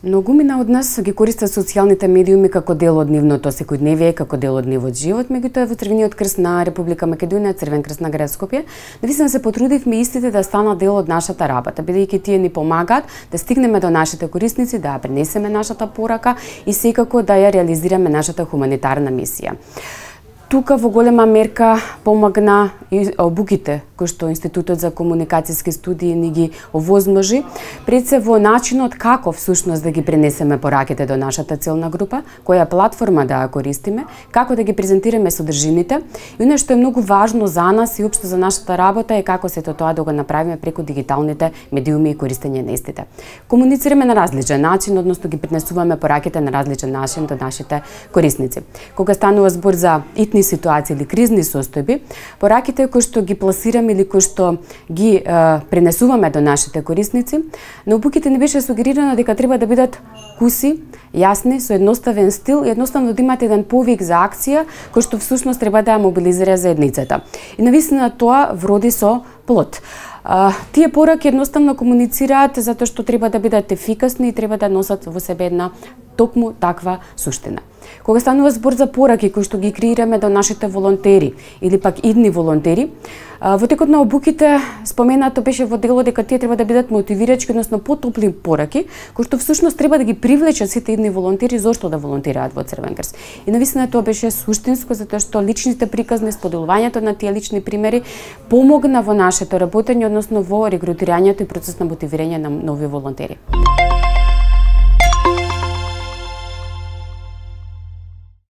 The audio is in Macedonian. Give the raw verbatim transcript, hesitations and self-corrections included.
Многумина од нас ги користат социјалните медиуми како дел од нивното секојдневие, како дел од нивот живот, меѓутоа во Црвениот крст на Република Македонија, Црвен крст на град Скопје, навистина се потрудивме истите да станат дел од нашата работа, бидејќи тие ни помагаат да стигнеме до нашите корисници, да ја пренесеме нашата порака и секако да ја реализираме нашата хуманитарна мисија. Тука во голема мерка помагна и обуките кои што Институтот за комуникацијски студии ни ги овозможи, пред се во начинот како всушност да ги пренесеме пораките до нашата целна група, која платформа да ја користиме, како да ги презентираме содржините и оно што е многу важно за нас и општо за нашата работа е како сето тоа да го направиме преку дигиталните медиуми и користење на истите. Комуницираме на различен начин, односно ги пренесуваме пораките на различен начин до нашите корисници. Кога станува збор за итни ситуации или кризни состојби, пораките кои што ги пласираме или кои што ги е, пренесуваме до нашите корисници, на упуките не беше сугерирано дека треба да бидат куси, јасни, со едноставен стил и едноставно да имате еден повик за акција кој што всушност треба да ја мобилизира заедницата. И навистина тоа вроди со плод. Uh, тие пораки едноставно комуницираат затоа што треба да бидат ефикасни и треба да носат во себе една токму таква суштина. Кога станува збор за пораки кои што ги креираме до нашите волонтери или пак идни волонтери, uh, во текот на обуките споменато беше во дело дека тие треба да бидат мотивирачки, односно потопли пораки, кои што всушност треба да ги привлечат сите идни волонтери зошто да волонтираат во Црвен крст. И навистина тоа беше суштинско затоа што личните приказни, споделувањето на тие лични примери помогна во нашето работење, односно во регрутирањето и процес на мотивирање на нови волонтери.